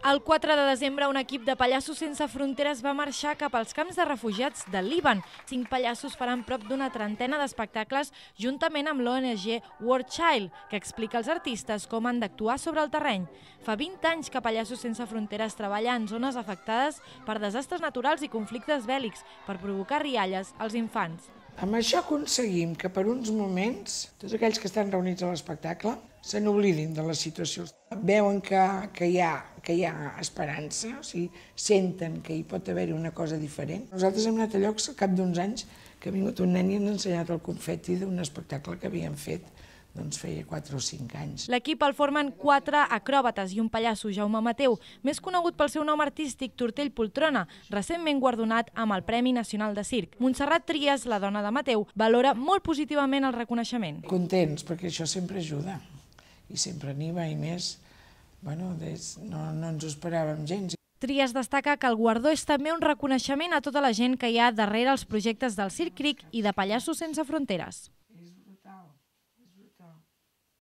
El 4 de desembre, un equip de Pallassos Sense Fronteres va marxar cap als camps de refugiats del Líban. 5 pallassos faran prop d'una trentena d'espectacles juntament amb l'ONG World Child, que explica als artistes com han d'actuar sobre el terreny. Fa 20 anys que Pallassos Sense Fronteres treballa en zones afectades per desastres naturals i conflictes bèl·lics per provocar rialles als infants. Amb això aconseguim que per uns moments tots aquells que estan reunits a l'espectacle se n'oblidin de la situació. Veuen que hi ha esperança, o sigui, senten que hi pot haver-hi una cosa diferent. Nosaltres hem anat a llocs al cap d'uns anys que ha vingut un nen i ens ha ensenyat el confeti d'un espectacle que havíem fet feia 4 o 5 anys. L'equip el formen 4 acròbates i un pallasso, Jaume Mateu, més conegut pel seu nom artístic Tortell Poltrona, recentment guardonat amb el Premi Nacional de Circ. Montserrat Trias, la dona de Mateu, valora molt positivament el reconeixement. Contents, perquè això sempre ajuda, i sempre n'hi va, i més, no ens ho esperàvem gens. Trias destaca que el guardó és també un reconeixement a tota la gent que hi ha darrere els projectes del Circ Cric i de Pallassos Sense Fronteres.